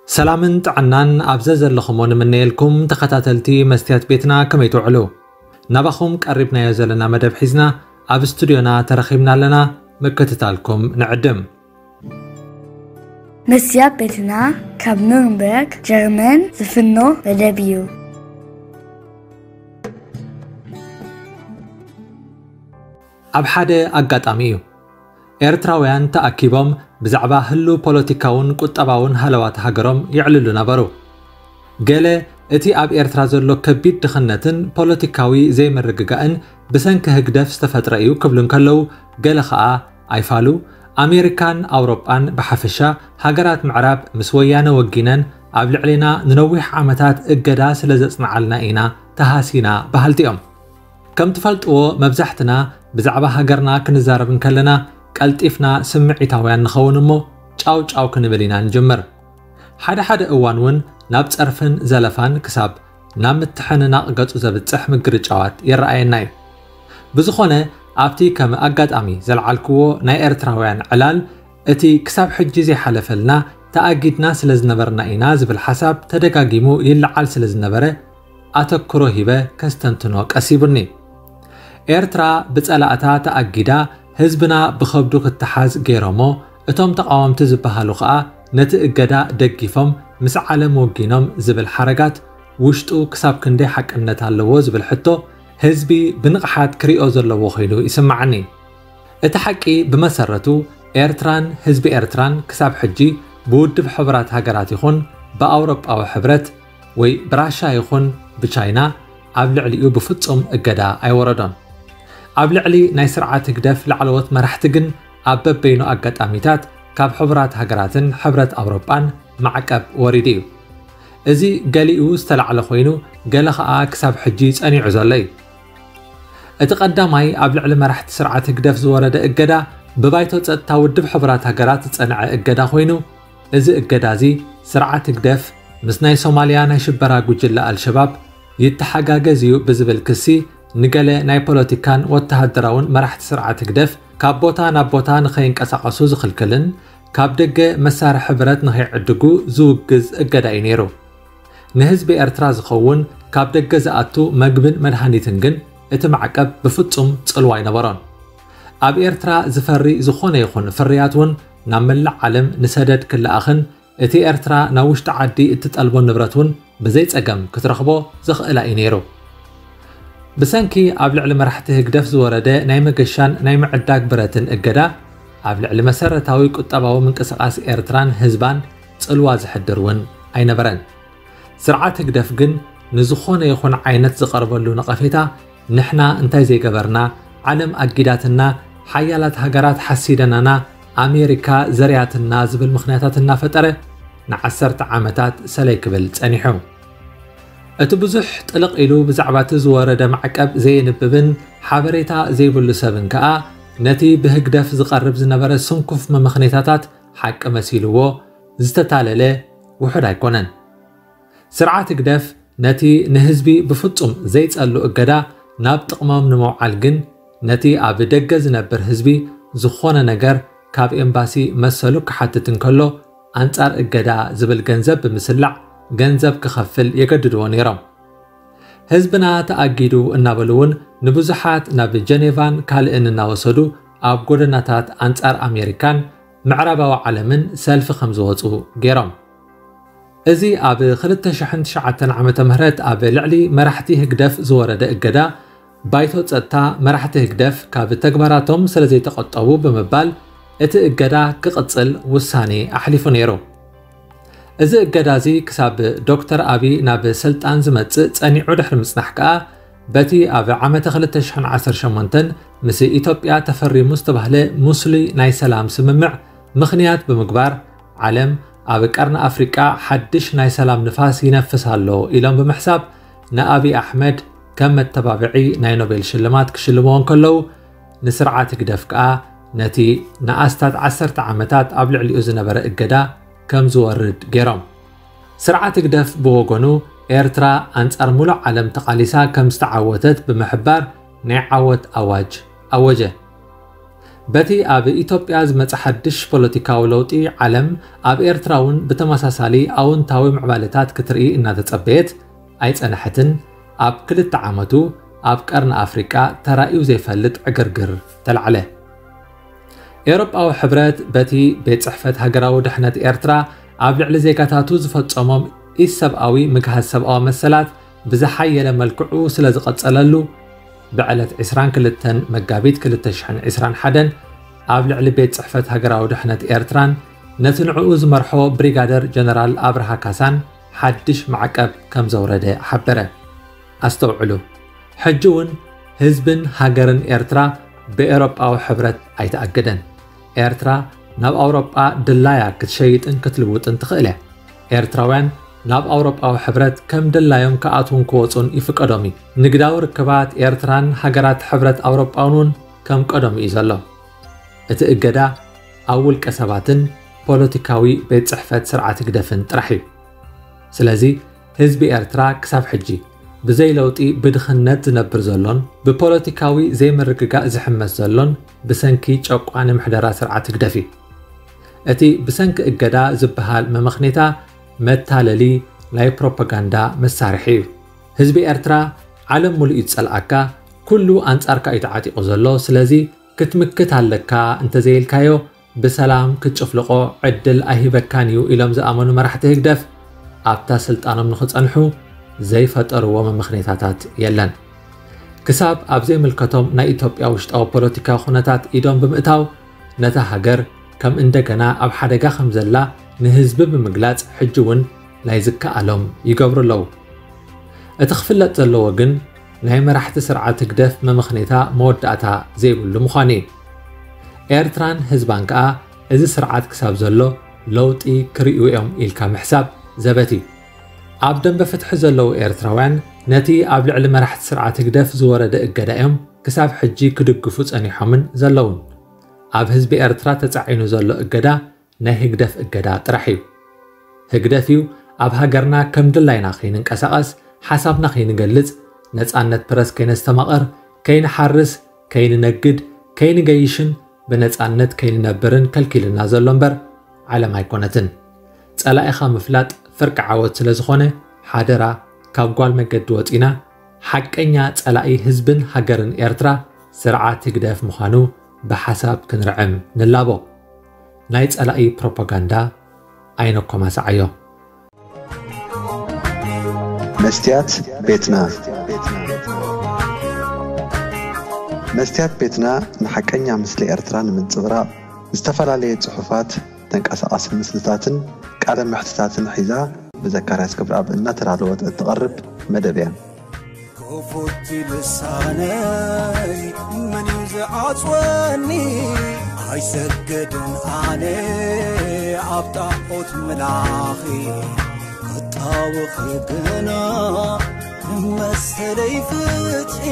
ሰላምን ጥዕናን ኣብ ዘዘለኹሞ ንምነየልኩም ተኸታተልቲ መስትያት ቤትና፣ ከመይ ትውዕሉ? ናባኹም ቀሪብናዮ ዘለና መደብ ሒዝና ኣብ ስቱድዮና ተረኺብና ኣለና። ምክትታልኩም ንዕድም። መስትያት ቤትና ካብ ኑርንበርግ ጀርመን ዝፍኖ መደብ እዩ። ኣብ ሓደ ኣጋጣሚ እዩ። ኤርትራውያን ተኣኪቦም ብዛዕባ ህሉ ፖለቲካውን ቁጠባውን ሃለዋት ሃገሮም ይዕልሉ ነበሩ። ገለ እቲ ኣብ ኤርትራ ዘሎ ከቢድ ድኽነትን ፖለቲካዊ ዘይምርግጋእን ብሰንኪ ህግደፍ ዝተፈጥረ እዩ ክብሉ እንከለዉ፣ ገለ ኸኣ ኣይፋሉ፣ ኣሜሪካን ኣውሮጳን ብሓፈሻ፣ ሃገራት ምዕራብ ምስ ወያነ ወጊነን ኣብ ልዕሌና ንነዊሕ ዓመታት እገዳ ስለ ዘጽንዓልና ኢና ተሃሲና በሃልቲ እዮም። ከም ትፈልጥዎ፣ መብዛሕትና ብዛዕባ ሃገርና ክንዛረብ እንከለና ቀልጢፍና ስምዒታውያን ንኸውን እሞ ጫው ጫው ክንብል ኢና ንጅምር። ሓደ ሓደ እዋን እውን ናብ ጸርፍን ዘለፋን ክሳብ ናብ ምትሕንናቕ ገጹ ዘብጽሕ ምግርጫዋት ይረኣየና እዩ። ብዝኾነ፣ ኣብቲ ከም ኣጋጣሚ ዘልዓልክዎ ናይ ኤርትራውያን ዕላል፣ እቲ ክሳብ ሕጂ ዘይሓለፈልና ተኣጊድና ስለ ዝነበርና ኢና ዝብል ሓሳብ ተደጋጊሙ ይለዓል ስለ ዝነበረ፣ ኣተክሮ ሂበ ከስተንትኖ ቀሲቡኒ። ኤርትራ ብጸላእታ ተኣጊዳ፣ ህዝብና ብኸብዱ ክተሓዝ ገይሮሞ፣ እቶም ተቓወምቲ ዝበሃሉ ኸኣ ነቲ እገዳ ደጊፎም ምስ ዓለም ወጊኖም ዝብል ሓረጋት ውሽጡ ክሳብ ክንደይ ሓቅነት ኣለዎ ዝብል ሕቶ ህዝቢ ብንቕሓት ክሪኦ ዘለዎ ኮይኑ ይስምዓኒ። እቲ ሓቂ ብመሰረቱ ኤርትራን ህዝቢ ኤርትራን ክሳብ ሕጂ ብውድብ ሕቡራት ሃገራት ይኹን ብኣውሮጳዊ ሕብረት ወይ ብራሻ ይኹን ብቻይና ኣብ ልዕሊኡ ብፍጹም እገዳ ኣይወረዶን። ኣብ ልዕሊ ናይ ስርዓት ህግደፍ ላዕለዎት መራሕቲ ግን ኣብ በበይኑ ኣጋጣሚታት ካብ ሕቡራት ሃገራትን ሕብረት ኣውሮጳን ማዕቀብ ወሪዱ እዩ። እዚ ገሊኡ ዝተላዕለ ኮይኑ፣ ገለ ኸኣ ክሳብ ሕጂ ጸኒዑ ዘሎ እዩ። እቲ ቀዳማይ ኣብ ልዕሊ መራሕቲ ስርዓት ህግደፍ ዝወረደ እገዳ ብባይቶ ጸጥታ ውድብ ሕቡራት ሃገራት ዝጸንዐ እገዳ ኮይኑ፣ እዚ እገዳ እዚ ስርዓት ህግደፍ ምስ ናይ ሶማልያ ናይ ሽበራ ጉጅለ ኣልሸባብ ይተሓጋገዝ እዩ ብዝብል ክሲ ንገለ ናይ ፖለቲካን ወተሃደራውን መራሕቲ ስርዓት ህግደፍ ካብ ቦታ ናብ ቦታ ንኸይንቀሳቐሱ ዝኽልክልን ካብ ደገ መሳርሒ ብረት ንኸይዕድጉ ዝውግዝ እገዳ እዩ ነይሩ። ንህዝቢ ኤርትራ ዝኸውን ካብ ደገ ዝኣቱ መግብን መድሃኒትን ግን እቲ ማዕቀብ ብፍጹም ጽልዋ ኣይነበሮን። ኣብ ኤርትራ ዝፈሪ ዝኾነ ይኹን ፍርያት እውን ናብ መላእ ዓለም ንሰደድ ክለኣኽን እቲ ኤርትራ ናብ ውሽጢ ዓዲ እትጠልቦ ንብረት እውን ብዘይ ጸገም ክትረኽቦ ዘኽእላ እዩ ነይሩ። ብሰንኪ ኣብ ልዕሊ መራሕቲ ህግደፍ ዝወረደ ናይ መገሻን ናይ ምዕዳግ ብረትን እገዳ፣ ኣብ ልዕሊ መሰረታዊ ቁጠባዊ ምንቅስቓስ ኤርትራን ህዝባን ጽልዋ ዝሕድር እውን ኣይነበረን። ስርዓት ህግደፍ ግን ንዝኾነ ይኹን ዓይነት ዝቐርበሉ ነቐፌታ፣ ንሕና እንታይ ዘይገበርና፣ ዓለም ኣጊዳትና፣ ሓያላት ሃገራት ሓሲደናና፣ ኣሜሪካ ዘርያትና ዝብል ምኽንያታት እናፈጠረ ንዓሰርተ ዓመታት ሰለይ ክብል ጸኒሑ። እቲ ብዙሕ ጥልቕ ኢሉ ብዛዕባ እቲ ዝወረደ ማዕቀብ ዘየንብብን ሓበሬታ ዘይብሉ ሰብን ከኣ ነቲ ብህግደፍ ዝቐርብ ዝነበረ ስንኩፍ መመኽኔታታት ሓቂ መሲልዎ ዝተታለለ ውሑድ ኣይኮነን። ስርዓት ህግደፍ ነቲ ንህዝቢ ብፍጹም ዘይጸሉ እገዳ ናብ ጥቕሞም ንምውዓል ግን ነቲ ኣብ ደገ ዝነብር ህዝቢ ዝኾነ ነገር ካብ ኤምባሲ መሰሉ ክሓትት እንከሎ ኣንጻር እገዳ ዝብል ገንዘብ ብምስላዕ ገንዘብ ክኸፍል የገድድዎ ነይሮም። ህዝብና ተኣጊዱ እናበሉ እውን ንብዙሓት ናብ ጀኔቫን ካልእን እናወሰዱ ኣብ ጎደናታት ኣንጻር ኣሜሪካን ምዕራባዊ ዓለምን ሰልፊ ከም ዝወጹ ገይሮም። እዚ ኣብ ክልተ ሽሕን ትሽዓተን ዓመተ ምህረት ኣብ ልዕሊ መራሕቲ ህግደፍ ዝወረደ እገዳ ባይቶ ጸጥታ መራሕቲ ህግደፍ ካብ ተግባራቶም ስለ ዘይተቐጠቡ ብምባል እቲ እገዳ ክቕጽል ውሳኔ ኣሕሊፉ ነይሩ። እዚ እገዳ እዚ ክሳብ ዶክተር ኣቢ ናብ ስልጣን ዝመጽእ ጸኒዑ ድሕሪ ምጽናሕ ከኣ በቲ ኣብ ዓመተ ክልተ ሽሕን ዓሰርተ ሸሞንተን ምስ ኢትዮጵያ ተፈሪሙ ዝተባህለ ሙስሊ ናይ ሰላም ስምምዕ ምኽንያት ብምግባር ዓለም ኣብ ቀርኒ ኣፍሪቃ ሓድሽ ናይ ሰላም ንፋስ ይነፍስ ኣሎ ኢሎም ብምሕሳብ ንኣብይ ኣሕመድ ከም መተባብዒ ናይ ኖቤል ሽልማት ክሽልምዎ እንከለዉ፣ ንስርዓት ህግደፍ ከኣ ነቲ ንኣስታት ዓሰርተ ዓመታት ኣብ ልዕሊኡ ዝነበረ እገዳ ከም ዝወርድ ገይሮም። ስርዓት ህግደፍ ብወገኑ፣ ኤርትራ ኣንጻር ሙሉእ ዓለም ተቓሊሳ ከም ዝተዓወተት ብምሕባር ናይ ዓወት ኣዋጅ ኣወጀ። በቲ ኣብ ኢትዮጵያ ዝመጸ ሓድሽ ፖለቲካዊ ለውጢ፣ ዓለም ኣብ ኤርትራ እውን ብተመሳሳሊ ኣውንታዊ ምዕባለታት ክትርኢ እናተጸበየት ኣይጸንሐትን። ኣብ ክልተ ዓመቱ ኣብ ቀርኒ ኣፍሪቃ ተራእዩ ዘይፈልጥ ዕግርግር ተላዕለ። ኤውሮጳዊ ሕብረት በቲ ቤት ጽሕፈት ሃገራዊ ድሕነት ኤርትራ ኣብ ልዕሊ ዜጋታቱ ዝፈጸሞም ኢሰብኣዊ ምግሃስ ሰብኣዊ መሰላት ብዝሓየለ መልክዑ ስለ ዝቐጸለሉ፣ ብዕለት ዕስራን ክልተን መጋቢት ክልተ ሽሕን ዕስራን ሓደን ኣብ ልዕሊ ቤት ጽሕፈት ሃገራዊ ድሕነት ኤርትራን ነቲ ንዕኡ ዝመርሖ ብሪጋደር ጀነራል ኣብርሃ ካሳን ሓድሽ ማዕቀብ ከም ዘውረደ ሓበረ። ኣስተውዕሉ፣ ሕጂ እውን ህዝብን ሃገርን ኤርትራ ብኤውሮጳዊ ሕብረት ኣይተኣገደን። ኤርትራ ናብ ኣውሮጳ ድላያ ክትሸይጥን ክትልውጥን ትኽእል እያ። ኤርትራውያን ናብ ኣውሮጳዊ ሕብረት ከም ድላዮም ክኣትዉን ክወጹን ይፍቀዶም እዩ። ንግዳዊ ርክባት ኤርትራን ሃገራት ሕብረት ኣውሮጳውን እውን ከም ቀደሙ እዩ ዘሎ። እቲ እገዳ ኣብ ውልቀ ሰባትን ፖለቲካዊ ቤት ጽሕፈት ስርዓት ህግደፍን ጥራሕ እዩ። ስለዚ ህዝቢ ኤርትራ ክሳብ ሕጂ ብዘይ ለውጢ ብድኽነት ዝነብር ዘሎን ብፖለቲካዊ ዘይምርግጋእ ዝሕመስ ዘሎን ብሰንኪ ጨቋኒ ምሕደራ ስርዓት ህግደፍ እዩ። እቲ ብሰንኪ እገዳ ዝበሃል መመኽኔታ መታለሊ ናይ ፕሮፓጋንዳ መሳርሒ እዩ። ህዝቢ ኤርትራ ዓለም ሙሉእ እዩ ዝጸልኣካ፣ ኩሉ ኣንጻርካ እዩ ተዓጢቑ ዘሎ። ስለዚ ክትምክት ኣለካ፣ እንተዘይልካዮ ብሰላም ክትጭፍልቖ ዕድል ኣይህበካን እዩ ኢሎም ዝኣመኑ መራሕቲ ህግደፍ ኣብታ ስልጣኖም ንኽጸንሑ ዘይፈጠርዎ መመኽኔታታት የለን። ክሳብ ኣብ ዘይምልከቶም ናይ ኢትዮጵያ ውሽጣዊ ፖለቲካዊ ኩነታት ኢዶም ብምእታው ነታ ሃገር ከም እንደገና ኣብ ሓደጋ ከም ዘላ ንህዝቢ ብምግላጽ ሕጂ እውን ናይ ዝከኣሎም ይገብሩ ኣለዉ። እቲ ክፍለጥ ዘለዎ ግን ናይ መራሕቲ ስርዓት ህግደፍ መመኽኔታ መወዳእታ ዘይብሉ ምዃኑ እዩ። ኤርትራን ህዝባን ከኣ እዚ ስርዓት ክሳብ ዘሎ ለውጢ ክርእዩ እዮም ኢልካ ምሕሳብ ዘበት እዩ። ኣብ ደንበ ፍትሒ ዘለዉ ኤርትራውያን ነቲ ኣብ ልዕሊ መራሕቲ ስርዓት ህግደፍ ዝወረደ እገዳ እዮም ክሳብ ሕጂ ክድግፉ ጸኒሖምን ዘለዉን። ኣብ ህዝቢ ኤርትራ ተጻዒኑ ዘሎ እገዳ ናይ ህግደፍ እገዳ ጥራሕ እዩ። ህግደፍ እዩ ኣብ ሃገርና ከም ድላይና ከይንንቀሳቐስ፣ ሓሳብና ከይንገልጽ፣ ነጻነት ፕረስ ከይነስተማቕር፣ ከይንሓርስ፣ ከይንነግድ፣ ከይንገይሽን ብነጻነት ከይንነብርን ከልኪልና ዘሎ እምበር ዓለም ኣይኮነትን። ጸላኢኻ ምፍላጥ ፍርቂ ዓወት ስለ ዝኾነ፣ ሓደራ ካብ ጓል መገዲ ወጺና ሓቀኛ ጸላኢ ህዝብን ሃገርን ኤርትራ ስርዓት ህግደፍ ምዃኑ ብሓሳብ ክንርዕም ንላቦ። ናይ ጸላኢ ፕሮፓጋንዳ ኣይነኮማስዓዮ። መስትያት ቤትና። መስትያት ቤትና ንሓቀኛ ምስሊ ኤርትራ ንምንጽብራቕ ዝተፈላለየ ጽሑፋት፣ ተንቀሳቓሲ ምስልታትን ቃለ መሕትታትን ሒዛ ብዘካርያስ ክብረኣብ እናተዳለወት እትቐርብ መደብ እያ። ክፉት ልሳነይ መን እዩ ዝዓጽወኒ? ኣይሰግድን ኣነ ኣብ ጣዖት ምላኺ፣ ክጣወኺ ግና መሰለይ ፍትሒ።